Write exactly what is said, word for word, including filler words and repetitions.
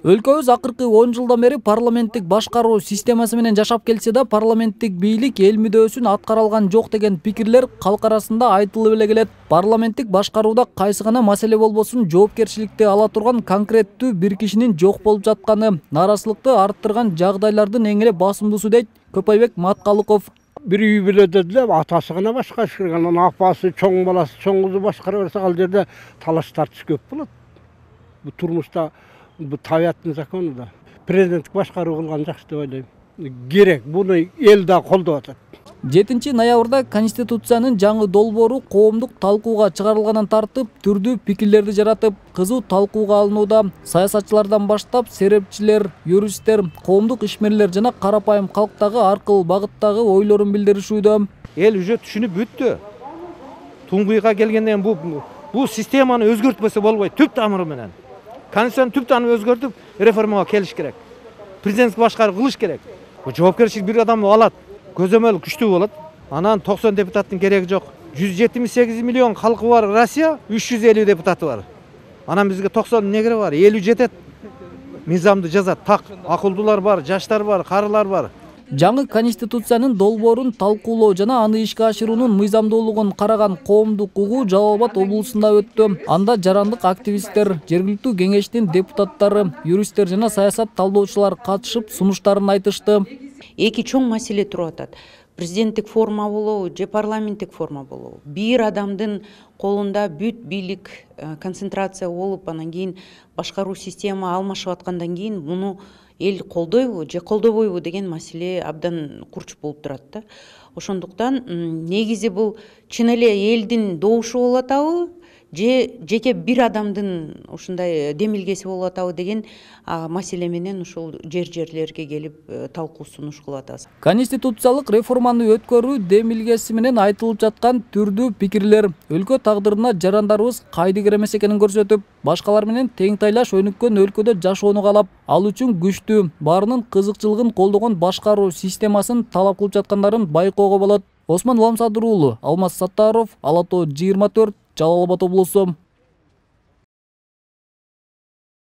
Өлкөбүз акыркы он жылдан бери парламенттик башкаруу системасы менен жашап келсе да, парламенттик бийлик эл мүдөөсүн аткара алган жок деген пикирлер калк арасында айтылып эле келет. Парламенттик башкарууда кайсы гана маселе болбосун жоопкерчиликти ала турган конкреттүү бир кишинин жок болуп жатканы нааразычылыкты арттырган жагдайлардын эң эле басымдуусу дейт Көпөйбек Маткалыков. Bir үй биледі де, атасы ғана башкарышкан, апасы, чоң баласы, чоң кызы башкара берсе, ал жерде талаш тартыш көп болот. Бу турмушта, бу табиаттын закону да. Президенттик башкаруу кылган жакшы деп ойлойм. Керек, буну эл да колдоп атат. жетинчи ноябрда Конституциянын жаңы долбоору коомдук талкууга чыгарылгандан тартып, түрдүү пикирлерди жаратып, кызуу талкууга алынууда. Саясатчылардан баштап, серепчилер, юристтер, коомдук ишмерлер жана карапайым калктагы ар кыл багыттагы ойлорун билдиришүүдө. Эл уже түшүнүп бүттү. Туңгуйга келгенден бу бу системаны өзгөртпөсө болбойт, түп тамыры менен. Конституцияны түп тамырын өзгөртүп, реформага келиш керек. Президенттик башкаруу кылыш керек. Бу жоопкерчилик бир адам алат. Көзөмөл күчтүү болот. Анан токсон депутаттын кереги жок. жүз жетимиш сегиз миллион калкы бар Россия, үч жүз элүү депутаты бар. Анан бизге токсон эмне кереги бар? элүү жетет. Мыйзамды жазат, так, акылдуулар бар, жаштар бар, карылар бар. Жаңы Конституциянын долбоорун талкуулоо жана аны ишке ашыруунун мыйзамдуулугун караган коомдук угуу Жалал Абад облусунда өттү. Анда жарандык активисттер, жергиликтүү кеңештин депутаттары, юристтер жана саясат талдоочулар катышып сунуштарын айтышты. Эки чоң маселе туруп атат. Президенттик форма болобу же парламенттик форма болобу. Бир адамдын колунда бүт бийлик концентрация болуп, анан кийин башкаруу система алмашып аткандан кийин муну эл колдойбу же колдобойбу деген маселе абдан курч болуп турат да. Ошондуктан негизи бул чын эле элдин добушу болуп атабы же жеке бир адамдын ушундай демилгеси болуп атабы деген маселе менен ушул жер-жерлерге келип талкуу сунуш кылып атабыз. Конституциялык реформаны өткөрүү демилгеси менен айтылып жаткан түрдүү пикирлер өлкө тагдырына жарандарыбыз кайдыгер эмес экенин көрсөтүп, башкалар менен тең тайлаш өнүккөн өлкөдө жашоону каалап, ал үчүн күчтүү, баарынын кызыкчылыгын колдогон башкаруу системасын талап кылып жаткандарын байкоого болот. Осмон Ламсадыр уулу, Алмаз Саттаров, Ала тоо жыйырма төрт, Жалал Абад облусу.